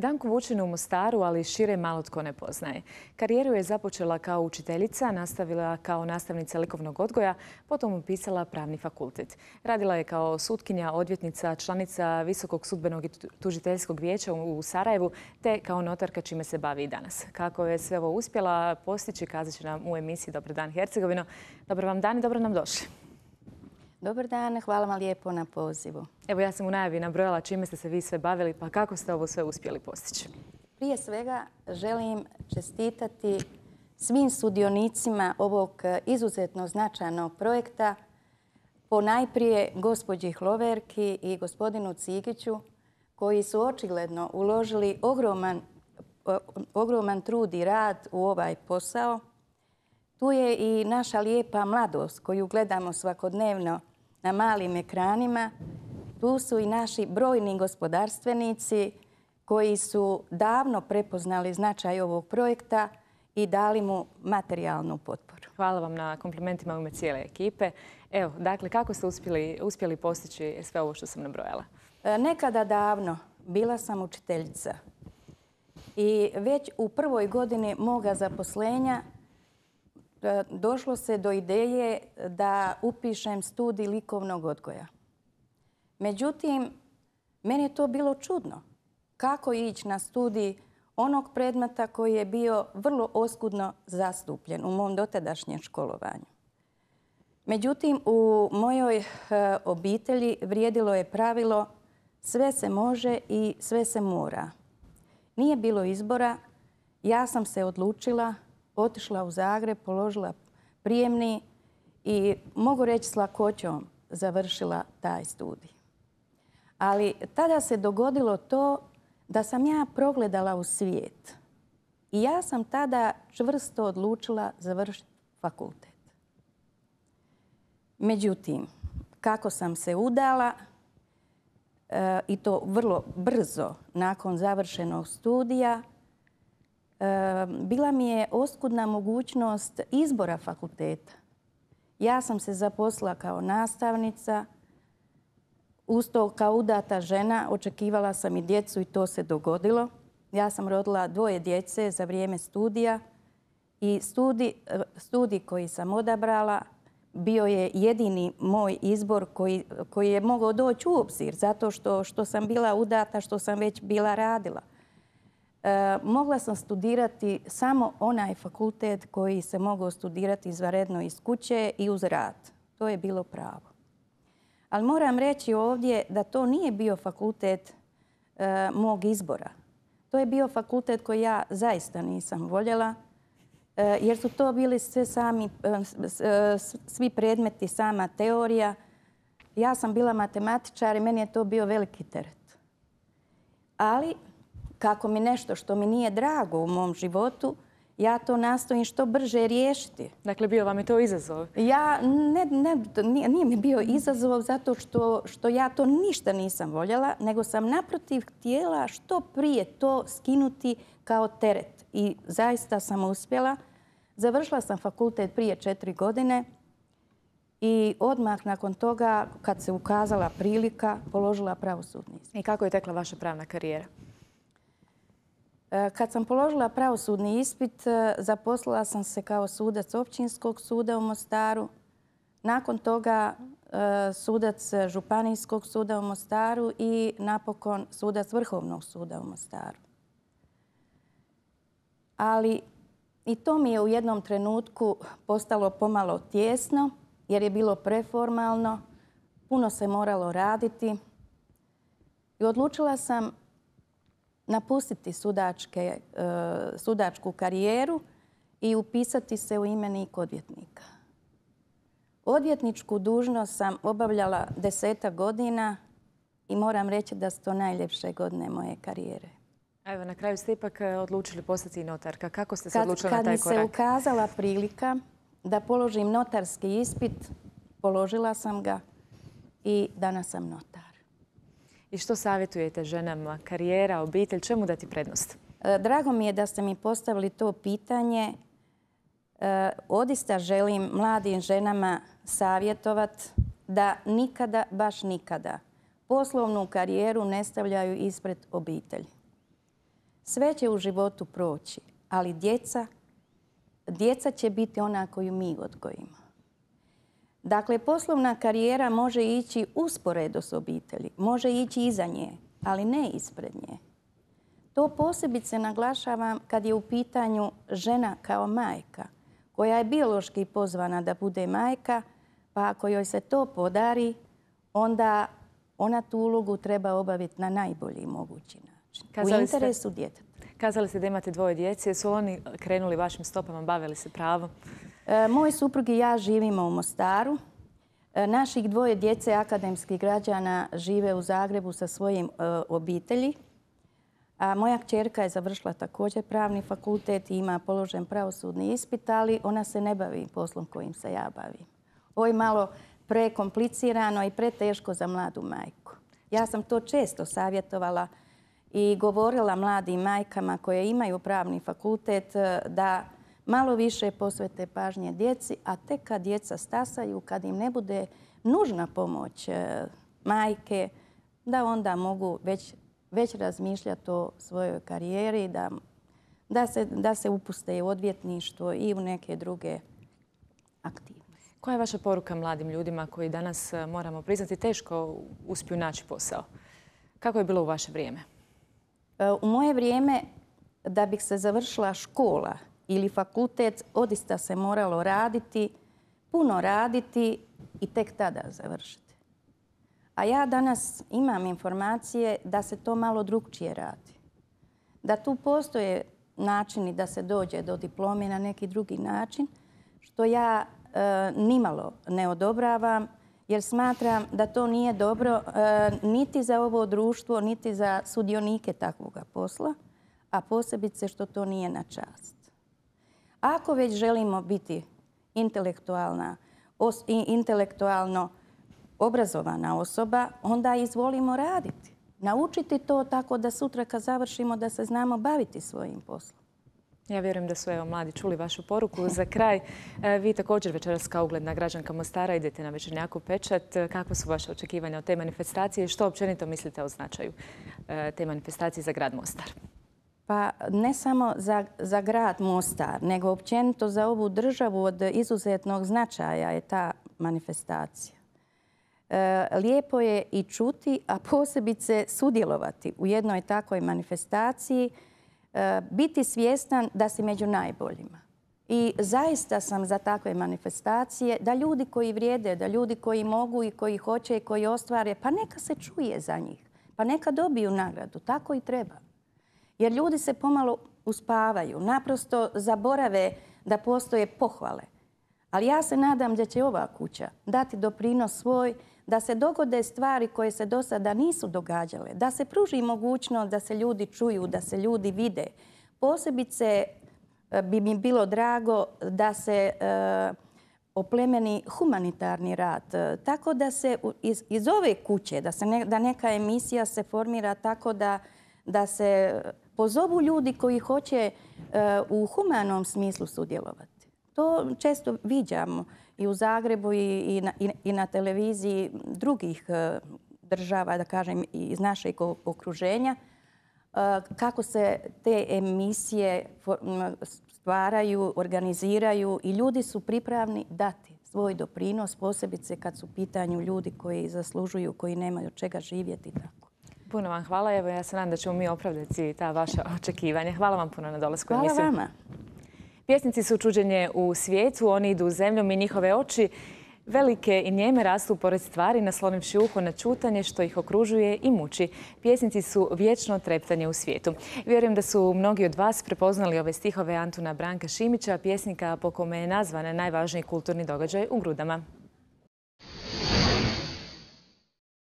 Danku Vučinu u Mostaru, ali šire malo tko ne poznaje. Karijeru je započela kao učiteljica, nastavila kao nastavnica likovnog odgoja, potom upisala pravni fakultet. Radila je kao sutkinja, odvjetnica, članica Visokog sudbenog i tužiteljskog vijeća u Sarajevu, te kao notarka, čime se bavi i danas. Kako je sve ovo uspjela postići, kazat će nam u emisiji Dobar dan Hercegovino. Dobar vam dan i dobro nam došli. Dobar dan, hvala vam lijepo na pozivu. Evo, ja sam u najavi nabrojala čime ste se vi sve bavili, pa kako ste ovo sve uspjeli postići? Prije svega želim čestitati svim sudionicima ovog izuzetno značajnog projekta, ponajprije gospođi Hloverki i gospodinu Cigiću, koji su očigledno uložili ogroman trud i rad u ovaj posao. Tu je i naša lijepa mladost koju gledamo svakodnevno na malim ekranima. Tu su i naši brojni gospodarstvenici koji su davno prepoznali značaj ovog projekta i dali mu materijalnu potporu. Hvala vam na komplimentima u ime cijele ekipe. Evo, dakle, kako ste uspjeli postići sve ovo što sam nabrojala? Nekada davno bila sam učiteljica i već u prvoj godini moga zaposlenja došlo se do ideje da upišem studij likovnog odgoja. Međutim, meni je to bilo čudno. Kako ići na studij onog predmeta koji je bio vrlo oskudno zastupljen u mom dotadašnjem školovanju. Međutim, u mojoj obitelji vrijedilo je pravilo sve se može i sve se mora. Nije bilo izbora, ja sam se odlučila, otišla u Zagreb, položila prijemni i mogu reći s lakoćom završila taj studij. Ali tada se dogodilo to da sam ja progledala u svijet. I ja sam tada čvrsto odlučila završiti fakultet. Međutim, kako sam se udala, i to vrlo brzo nakon završenog studija, bila mi je oskudna mogućnost izbora fakulteta. Ja sam se zaposlila kao nastavnica, uz to kao udata žena očekivala sam i djecu i to se dogodilo. Ja sam rodila 2 djece za vrijeme studija i studij koji sam odabrala bio je jedini moj izbor koji je mogao doći u obzir zato što sam bila udata, što sam već bila radila. Mogla sam studirati samo onaj fakultet koji se mogao studirati izvanredno iz kuće i uz rad. To je bilo pravo. Ali moram reći ovdje da to nije bio fakultet mog izbora. To je bio fakultet koji ja zaista nisam voljela, jer su to bili svi predmeti, sama teorija. Ja sam bila matematičar i meni je to bio veliki teret. Ali kako mi nešto što mi nije drago u mom životu, ja to nastojim što brže riješiti. Dakle, bio vam je to izazov? Nije mi bio izazov zato što ja to ništa nisam voljela, nego sam naprotiv htjela što prije to skinuti kao teret. I zaista sam uspjela. Završila sam fakultet prije 4 godine i odmah nakon toga, kad se ukazala prilika, položila pravosudni ispit. I kako je tekla vaša pravna karijera? Kad sam položila pravosudni ispit, zaposlila sam se kao sudac Općinskog suda u Mostaru. Nakon toga sudac Županijskog suda u Mostaru i napokon sudac Vrhovnog suda u Mostaru. Ali i to mi je u jednom trenutku postalo pomalo tijesno jer je bilo preformalno, puno se moralo raditi i odlučila sam napustiti sudačku karijeru i upisati se u imenik odvjetnika. Odvjetničku dužnost sam obavljala 10 godina i moram reći da su to najljepše godine moje karijere. Evo, na kraju ste ipak odlučili postati notarka. Kako ste se odlučili na taj korak? Kad mi se ukazala prilika da položim notarski ispit, položila sam ga i danas sam notar. I što savjetujete ženama? Karijera, obitelj, čemu dati prednost? Drago mi je da ste mi postavili to pitanje. Odista želim mladim ženama savjetovati da nikada, baš nikada, poslovnu karijeru ne stavljaju ispred obitelji. Sve će u životu proći, ali djeca će biti ona koju mi odgojimo. Dakle, poslovna karijera može ići usporedo s obitelji, može ići iza nje, ali ne ispred nje. To posebice naglašavam kad je u pitanju žena kao majka, koja je biološki pozvana da bude majka, pa ako joj se to podari, onda ona tu ulogu treba obaviti na najbolji mogući način. U interesu djeteta. Kazali ste da imate 2 djece. Su oni krenuli vašim stopama, bavili se pravom? Moj suprug i ja živimo u Mostaru. Naših 2 djece akademskih građana žive u Zagrebu sa svojim obitelji. A moja kćerka je završila također pravni fakultet i ima položen pravosudni ispit, ali ona se ne bavi poslom kojim se ja bavim. Ovo je malo prekomplicirano i preteško za mladu majku. Ja sam to često savjetovala i govorila mladim majkama koje imaju pravni fakultet da malo više posvete pažnje djeci, a tek kad djeca stasaju, kad im ne bude nužna pomoć majke, da onda mogu već razmišljati o svojoj karijeri, da se upuste u odvjetništvo i u neke druge aktivnosti. Koja je vaša poruka mladim ljudima koji danas, moramo priznati, teško uspiju naći posao? Kako je bilo u vaše vrijeme? U moje vrijeme, da bih se završila škola ili fakultet, odista se moralo raditi, puno raditi i tek tada završiti. A ja danas imam informacije da se to malo drukčije radi. Da tu postoje načini da se dođe do diplome na neki drugi način, što ja nimalo ne odobravam, jer smatram da to nije dobro niti za ovo društvo, niti za sudionike takvoga posla, a posebice što to nije na čast. Ako već želimo biti intelektualno obrazovana osoba, onda izvolimo raditi. Naučiti to tako da sutra kad završimo da se znamo baviti svojim poslom. Ja vjerujem da su mladi čuli vašu poruku. Za kraj, vi također večeras kao ugledna građanka Mostara idete na Večernjak u Pečat. Kakva su vaše očekivanja od te manifestacije i što općenito mislite o značaju te manifestacije za grad Mostar? Pa ne samo za grad Mostar, nego općenito za ovu državu od izuzetnog značaja je ta manifestacija. Lijepo je i čuti, a posebice sudjelovati u jednoj takvoj manifestaciji, biti svjestan da si među najboljima. I zaista sam za takve manifestacije, da ljudi koji vrijede, da ljudi koji mogu i koji hoće i koji ostvare, pa neka se čuje za njih, pa neka dobiju nagradu. Tako i treba. Jer ljudi se pomalo uspavaju, naprosto zaborave da postoje pohvale. Ali ja se nadam da će ova kuća dati doprinos svoj, da se dogode stvari koje se do sada nisu događale, da se pruži mogućnost da se ljudi čuju, da se ljudi vide. Posebice bi mi bilo drago da se oplemeni humanitarni rad. Tako da se iz ove kuće, da neka emisija se formira tako da se pozovu ljudi koji hoće u humanom smislu sudjelovati. To često viđamo i u Zagrebu i na televiziji drugih država, da kažem, iz našeg okruženja, kako se te emisije stvaraju, organiziraju i ljudi su pripravni dati svoj doprinos, posebice kad su u pitanju ljudi koji zaslužuju, koji nemaju od čega živjeti. Tako. Puno vam hvala. Evo, ja se nadam da ćemo mi opravdati ta vaša očekivanja. Hvala vam puno na dolasku u emisiju. Hvala vama. Pjesnici su čuđenje u svijetu, oni idu zemljom i njihove oči velike i njeme rastu pored stvari, naslonivši uho na čutanje što ih okružuje i muči. Pjesnici su vječno treptanje u svijetu. Vjerujem da su mnogi od vas prepoznali ove stihove Antuna Branka Šimića, pjesnika po kome je nazvan najvažniji kulturni događaj u Grudama.